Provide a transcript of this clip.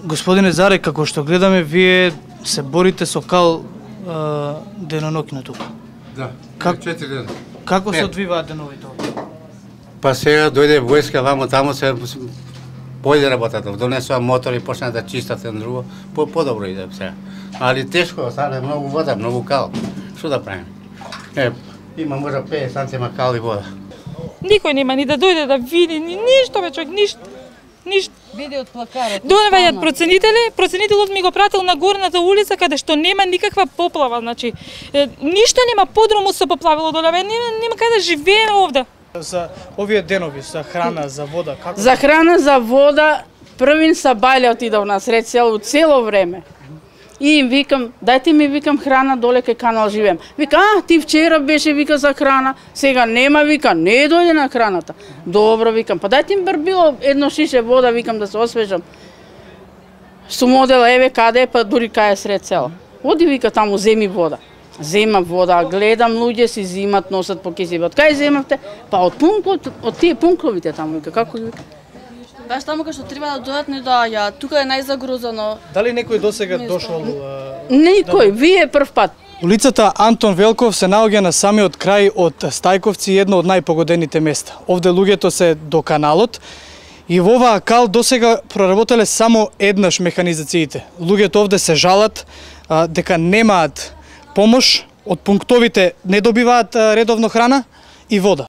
Господине Заре, како што гледаме, вие се борите со кал деноноќно тука. Да, 4 дена. Како се одвиваат деновите овде? Па сега дојде војска вамо таму се појде работата, донесува мотори, почна да чистат едно друго, подобро иде сега. Али тешко, стане многу вода, многу кал. Што да правиме? Има може 50 сантима кал и вода. Никој нема ни да дојде да види, ништо бе човек, ништо. Види од плакарот. Доаѓаат проценителот ми го пратил на горната улица каде што нема никаква поплава, значи ништо нема, подрумот се поплавило доле, нема каде да живееме овде. За овие денови, за храна, за вода, како? За храна, за вода, првин са Бајле отидов на сред село цело време. И им викам, дајте ми, викам, храна доле кај канал живеем. Вика, ти вчера беше, вика, за храна, сега нема, вика, не дојде на храната. Добро, викам, па дајте им барбило едно шише вода, викам, да се освежам. Сум одела, еве каде е, па дури кај е сред село. Оди, вика, таму земи вода. Земам вода, гледам луѓе си зимат, носат по киси. Од кај земавте? Па од тие пунктовите таму, вика, како ги вика? Баш таму кај што треба да дојдат не доаѓаат. Тука е најзагрозено. Дали некој досега дошол? Никој, вие прв пат. Улицата Антон Велков се наоѓа на самиот крај од Стајковци, едно од најпогодените места. Овде луѓето се до каналот и во оваа кал досега проработеле само еднаш механизациите. Луѓето овде се жалат дека немаат помош, од пунктовите не добиваат редовно храна и вода.